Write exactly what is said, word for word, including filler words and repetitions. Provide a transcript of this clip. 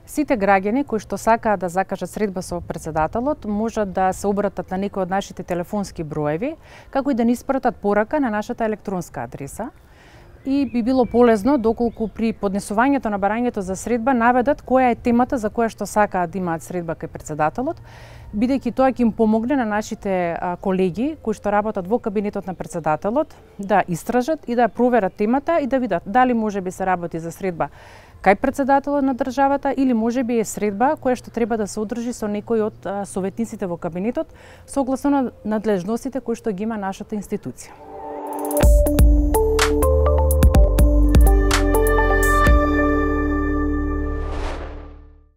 Сите граѓани кои што сакаат да закажат средба со претседателот можат да се обратат на некој од нашите телефонски броеви, како и да ни испратат порака на нашата електронска адреса. И би било полезно доколку при поднесувањето на барањето за средба наведат која е темата за која што сакаат да имаат средба кај претседателот, бидејќи тоа ќе им помогне на нашите колеги кои што работат во кабинетот на претседателот да истражат и да проверат темата и да видат дали можеби се работи за средба кај претседателот на државата или можеби е средба која што треба да се одржи со некој од советниците во кабинетот согласно на надлежностите кои што ги има нашата институција.